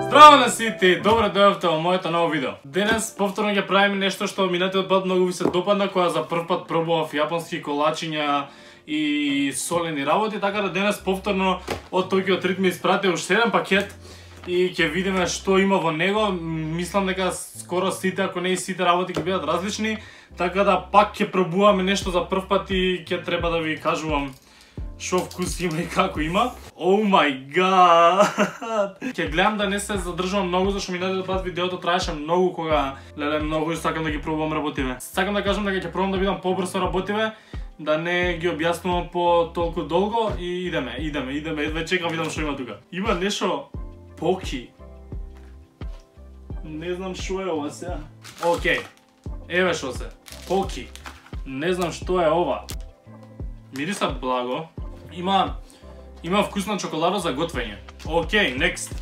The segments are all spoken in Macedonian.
Здраво на сите, добро дојавте во моето ново видео. Денес повторно ќе правиме нешто што минатиот пат многу ви се допадна, кога за прв пат пробував јапонски колачиња и солени работи, така да денес повторно од Tokyo Treat ми испрати уште еден пакет и ќе видиме што има во него. Мислам дека скоро сите, ако не и сите работи ќе бидат различни, така да пак ќе пробуваме нешто за прв пат и ќе треба да ви кажувам шо вкус има и како има. Oh my god! Ќе гледам да не се задржувам многу, зашто минатиот пат видеото траеше многу, кога многу сакам да ги пробувам работиве. Сакам да кажам дека ќе пробам да бидам побрзо работиве, да не ги објаснувам по толку долго и идеме, веќе чекам видам што има тука. Има нешто поки. Не знам што е ова сега. Океј. Еве што се. Поки. Не знам што е ова. Мириса благо. Има вкус на чоколада за готвење. Океј, next.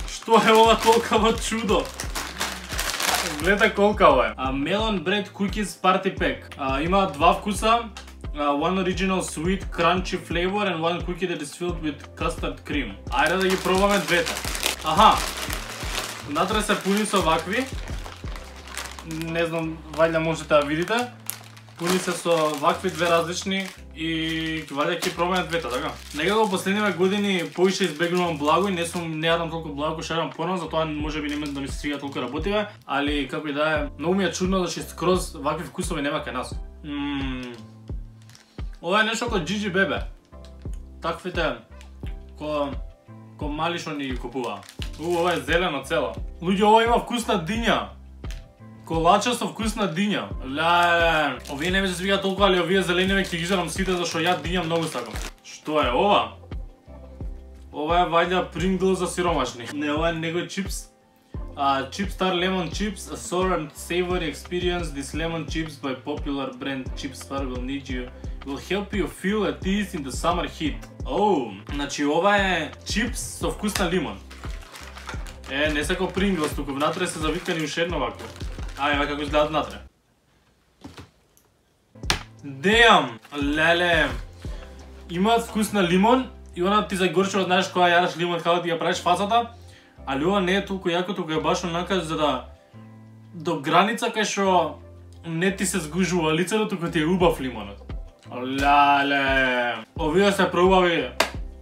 Што е ова толкова чудо? Гледа колкаво е. Melon Bread Cookies Party Pack. Има два вкуса. One original sweet crunchy flavor and one cookie that is filled with custard cream. Ајде да ги пробаме двете. Аха. Натре се пуни со вакви. Не знам, вајде можете да видите. Пуни се со вакви две различни и вајде ќе пробаме двете, така? Некако последниве години поише избегнувам благо и не јадам толку благо кој што јадам порано, затоа можеби нема да ми се свиѓа толку работиве, али како и да е, многу ми е чудно зашто скроз вакви вкусови нема кај нас. Ова е нешто како Джиджи Бебе. Таквите ко мали што ни ги купува. Ова е зелено цело. Луѓе, ова има вкус на диња. Колача со вкус на диња. Овие не ми се свиѓа толку, али овие зелениве ќе ги жарам сите зашто ја диња многу сакам. Што е ова? Ова е вајда Pringles за сиромашни. Не, ова е него чипс. Chipstar lemon chips, a sour and savory experience. This lemon chips by popular brand Chipstar will help you feel at ease in the summer heat. Значи ова е чипс со вкус на лимон. Не се како Pringles, туку внатре се завиткани уште едно вако. Еве како изгледат внатре. Damn! Леле! Имаат вкус на лимон и она ти загорчува, знаеш, кога јадеш лимон, како ти ја правиш фацата, али ова не е толку јако, туку е баш онака за да до граница кај што не ти се згужува лицето, туку ти е убав лимонот. Леле! Овие се проубави.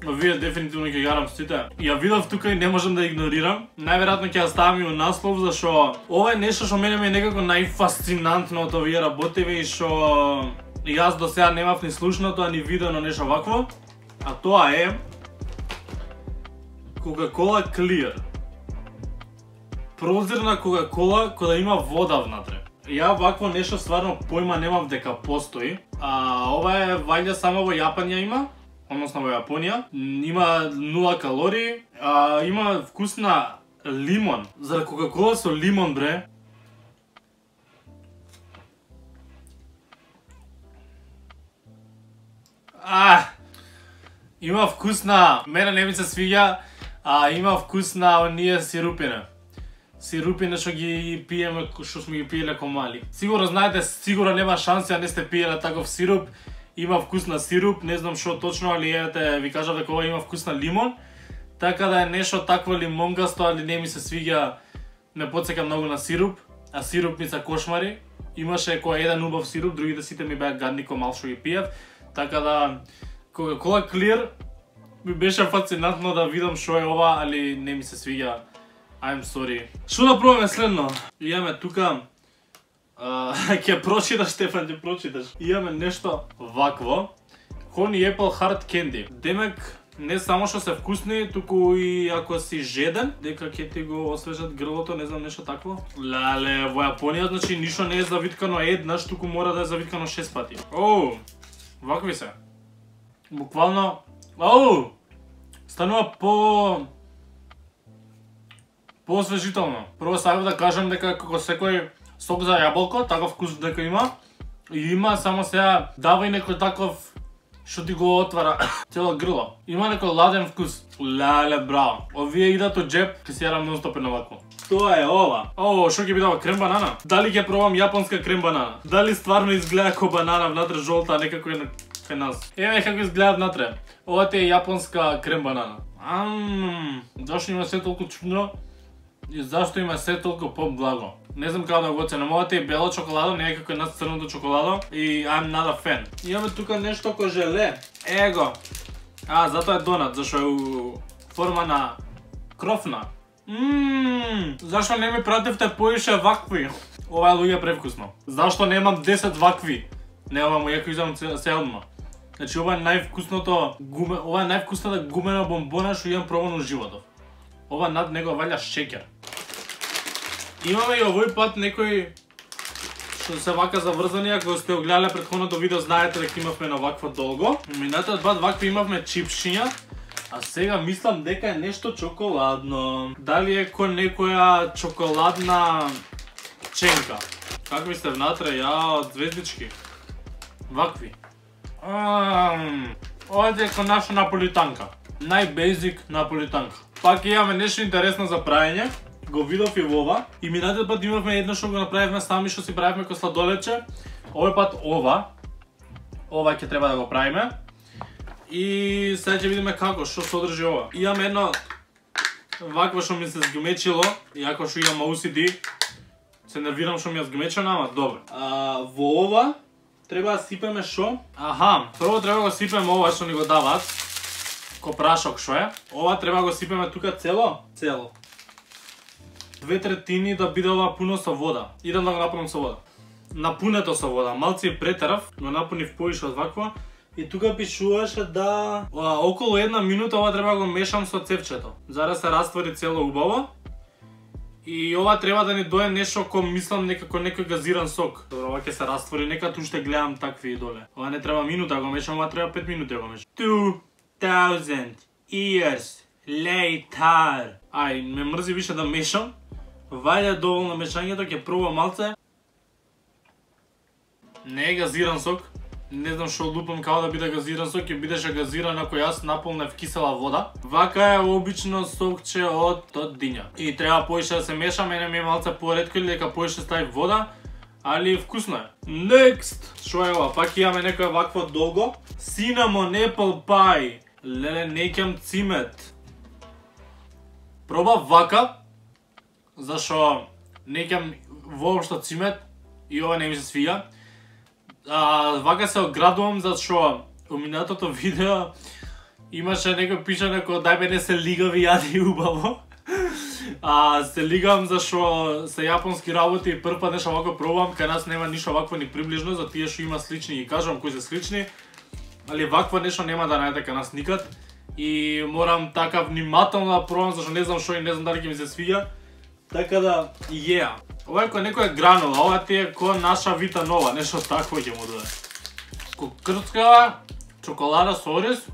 Овие дефинитивно ќе јарам сите. Ја видов тука и не можам да игнорирам. Најверојатно ќе ја ставам и во наслов, зашто ова е нешто што мене ми е некако најфасцинантно од овие работиви и што јас до сега немав ни слушнато, а ни видено нешто вакво. А тоа е Coca-Cola Clear. Прозирна Coca-Cola која има вода внатре. Ја вакво нешто стварно појма немав дека постои. Ова е вајде само во Јапонија има. Односно во Јапонија, има 0 калории, има вкус на лимон. Заради Кока-кола со лимон, бре. Има вкус на, мене не ми се свиѓа, има вкус на оние сирупине. Сирупине што ги пиеме, што сме ги пиеле ко мали. Сигурно знаете, сигурно нема шанси, не сте пиеле таков сируп. Има вкус на сируп, не знам што точно, али ете ви кажав дека ова има вкус на лимон. Така да е нешто такво лимонгасто, али не ми се свиѓа, не потсека многу на сируп, а сируп ми се кошмари. Имаше кој еден убав сируп, другите сите ми беа гадни ко мал што ги пиев. Така да Coca-Cola Clear ми беше фасцинантно да видам што е ова, али не ми се свиѓа. I'm sorry. Што да пробаме следно? Имаме тука ќе прочиташ, Стефан, ќе прочиташ. Имаме нешто вакво. Honey Apple Hard Candy. Демек, не само што се вкусни, туку и ако си жеден, дека ќе ти го освежат грлото, не знам, нешто такво. Леле, во Јапонија, значи, ништо не е завиткано еднаш, туку мора да е завиткано 6 пати. Вакви се. Буквално, станува по-освежително. Прво сакам да кажам дека како секој сок за јаболко, таков вкус дека има. И има само сега дава и некој таков што ти го отвара цело грло. Има некој ладен вкус. Леле, браво. Овие идат од джеб, ќе се јадам нон-стоп на вако. Тоа е ова. Што ќе биде ова, крем банана? Дали ќе пробам јапонска крем банана? Дали стварно изгледа како банана внатре жолта, а не како е кај нас? Еве како изгледа внатре. Ова е јапонска крем банана. Зашто има се толку чудно? И зашто има се толку поблаго? Не знам како да го оценам. Ова е бело чоколадо, не е како една црното чоколадо и I'm not a fan. Имаме тука нешто ко желе. Его. Затоа е донат, зашто е у форма на крофна. Зашто не ми пративте поише вакви? Ова е луѓе превкусно. Зашто немам 10 вакви? Немам, јако изам селно. Значи ова е највкусната гумена бомбона што имам пробано во животот. Ова над него валја шеќер. Имаме и овој пат некои што се вака заврзани, ако сте го гледале претходното видео знаете дека имавме на ваква долго. Минатиот пат вакви имавме чипшиња, а сега мислам дека е нешто чоколадно. Дали е кој некоја чоколадна ченка? Какви сте внатре? Од звездички. Вакви. Ова е како наша наполитанка. Најбезик наполитанка. Пак имаме нешто интересно за праење. Го видов и во ова. И минатиот пат имавме едно што го направивме сами, што си правивме ко сладолече. Овој пат ова ќе треба да го правиме. И сега ќе видиме како, што содржи ова. Имам едно вакво што ми се згмечило, иако што имам OCD. Се нервирам што ми е згмечено, ама добро. Во ова треба да сипеме шо? Прво треба да го сипеме ова што ни го даваат. Ко прашок шо е. Ова треба да го сипеме тука цело. 2/3 да биде ова пуно со вода. Идам да го напунам со вода. Напунето со вода. Малци претерав, го напунив поише од ваква. И тука пишуваше да околу 1 минута ова треба да го мешам со цевчето. За да се раствори цело убаво. И ова треба да ни дое нешто ко мислам некако некој газиран сок. Добро, ова ќе се раствори, нека уште гледам такви доле. Ова не треба минута да го мешам, ова треба 5 минути да го мешам. 2000 years later. Ме мрзи више да мешам. Вајде доволно мешањето, ќе пробам малце. Не е газиран сок. Не знам што лупам како да биде газиран сок, ќе бидеше газиран ако јас наполнев кисела вода. Вака е обично сокче од диња. И треба поише да се меша, мене ми е малце поретко или дека поише стави вода, али вкусно е. Next! Шо е ова? Пак имаме некоја вакво долго. Cinnamon apple pie. Леле, некам цимет. Пробав вака, зашо некам воопшто цимет и ова не ми се свија. Вака се оградувам зашо у минатото видео имаше некој пишане како дај бе не се лигави, јади убаво. Се лигам зашо се јапонски работи и прв пат нешто вако пробам, кај нас нема ништо вакво ни приближно, за тие што има слични ги кажувам кои се слични. Али вакво нешто нема да најдете кај нас никад. И морам така внимателно да пробам зашо не знам што и не знам дали ќе ми се свиѓа. Така да, ова е кој некоја гранула, ова ти е кој наша Вита Нова, нешто такво ќе му доде. Кокрцкава чоколада со ориз,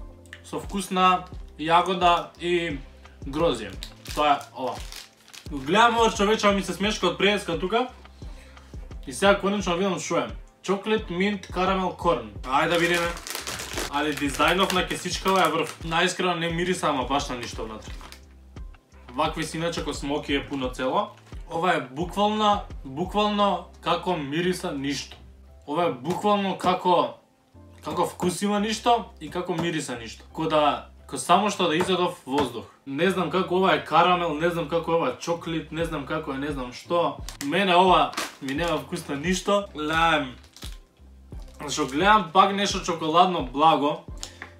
со вкус на јагода и грозје. Тоа е ова. Гледам ова човече, ми се смешка од преска тука. И сега конечно видам шо е. Chocolate mint caramel corn. Ајде да видиме. Али дизајнов на кесичкава е врв. Наискрено не мириса, ама баш на ништо внатре. Вакви си иначе ко смоки е пуно цело. Ова е буквално како мириса ништо. Ова е буквално како вкус има ништо и како мириса ништо. Ко само што да изедов воздух. Не знам како ова е карамел, не знам како ова е чоклит, не знам како е, не знам што. Мене ова ми нема вкус на ништо. Зашо гледам пак нешто чоколадно благо.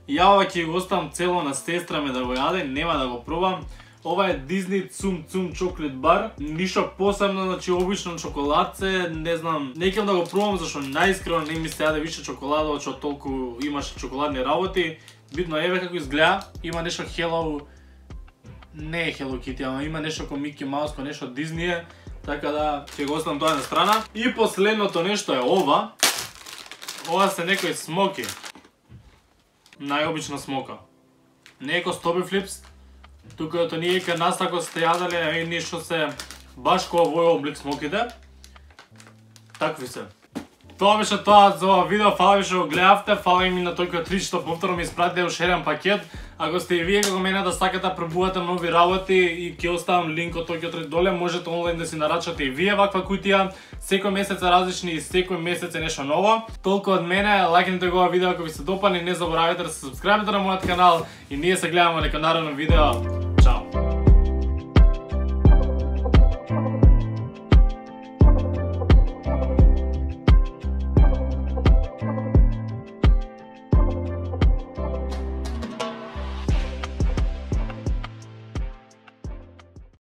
Ја ова ќе го оставам цело на сестра ме да го јаде, нема да го пробам. Ова е Disney Tsum Tsum Chocolate Bar. Ништо посебно, значи обично чоколадце, не знам, не ќе да го пробам зашто најискрено не ми се јаде више чоколада, од што толку имаше чоколадни работи. Битно еве како изгледа, има нешто Hello, не е Hello Kitty, ама има нешто ко Mickey Mouse, ко нешто Disney, така да ќе го оставам тоа на страна. И последното нешто е ова. Ова се некои смоки. Најобична смока. Не е ко Stobby Flips. Тука ето ние кај нас ако сте јадале нешто се баш ко овој облик смоките. Такви се. Тоа беше тоа за ова видео, фала ви што го гледавте, фала ми на тој кој 3 што повторно ми испратите уште еден пакет. Ако сте и вие како мене да сакате да пробувате нови работи и ќе оставам линкот тој доле, можете онлайн да си нарачате и вие ваква кутија. Секој месец е различни и секој месец е нешто ново. Толку од мене, лајкнете го ова видео ако ви се допадне, не заборавајте да се сабскрајбите на мојот канал и ние се гледаме на наредно видео.